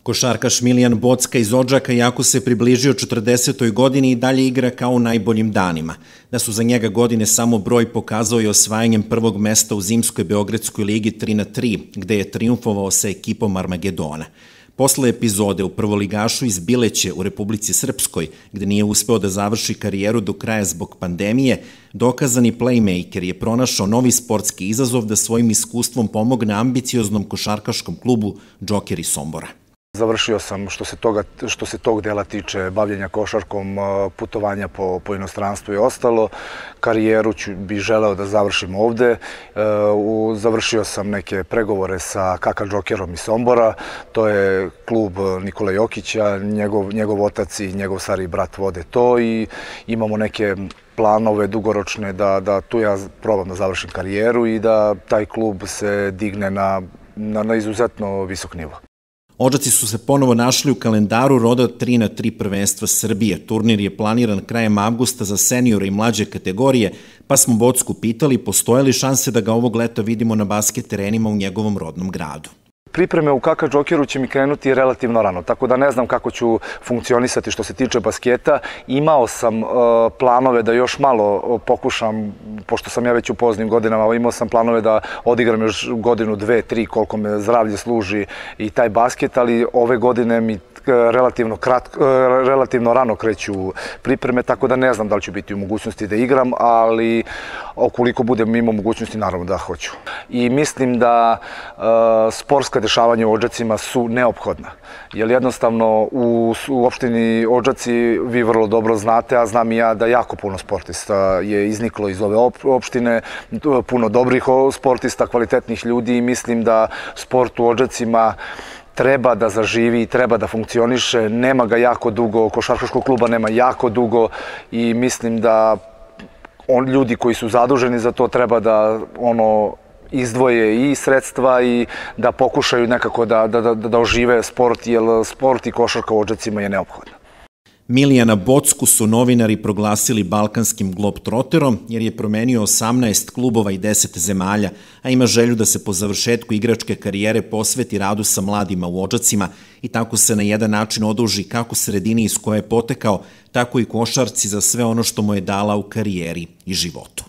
Košarkaš Milijan Bocka iz Odžaka, jako se približio 40. godini i dalje igra kao u najboljim danima. Da su za njega godine samo broj pokazao i osvajanjem prvog mesta u zimskoj Beogradskoj ligi 3-3, gde je triumfovao sa ekipom Armagedona. Posle epizode u prvoligašu iz Bileće u Republici Srpskoj, gde nije uspeo da završi karijeru do kraja zbog pandemije, dokazani playmaker je pronašao novi sportski izazov da svojim iskustvom pomogne ambicioznom košarkaškom klubu Džokeri Sombora. Završio sam što se tog dela tiče bavljenja košarkom, putovanja po inostranstvu i ostalo. Karijeru bih želeo da završim ovde. Završio sam neke pregovore sa KK Džokerom iz Sombora. To je klub Nikole Jokića, njegov otac i njegov stariji brat vode to i imamo neke planove dugoročne da tu ja probam da završim karijeru i da taj klub se digne na izuzetno visok nivo. Odžaci su se ponovo našli u kalendaru roda 3x3 prvenstva Srbije. Turnir je planiran krajem avgusta za seniore i mlađe kategorije, pa smo Bocku pitali postoje li šanse da ga ovog leta vidimo na basket terenima u njegovom rodnom gradu. Pripreme u KK Džokeru će mi krenuti relativno rano, tako da ne znam kako ću funkcionisati što se tiče basketa. Imao sam planove da još malo pokušam, pošto sam ja već u poznim godinama, imao sam planove da odigram još godinu, dve, tri, koliko me zdravlje služi i taj basket, ali ove godine mi relativno rano kreću pripreme, tako da ne znam da li ću biti u mogućnosti da igram, ali ukoliko budem imao mogućnosti, naravno da hoću. I mislim da sportska dešavanja u Odžacima su neophodna, jer jednostavno u opštini Odžaci vi vrlo dobro znate, a znam i ja da jako puno sportista je izniklo iz ove opštine, puno dobrih sportista, kvalitetnih ljudi i mislim da sport u Odžacima treba da zaživi i treba da funkcioniše. Nema ga jako dugo, košarkaškog kluba nema jako dugo i mislim da ljudi koji su zaduženi za to treba da izdvoje i sredstva i da pokušaju nekako da ožive sport, jer sport i košarka u Odžacima je neophodna. Milijana Bocku su novinari proglasili balkanskim globtroterom jer je promenio 18 klubova i 10 zemalja, a ima želju da se po završetku igračke karijere posveti radu sa mladima u Odžacima i tako se na jedan način oduži kako sredini iz koje je potekao, tako i košarci za sve ono što mu je dala u karijeri i životu.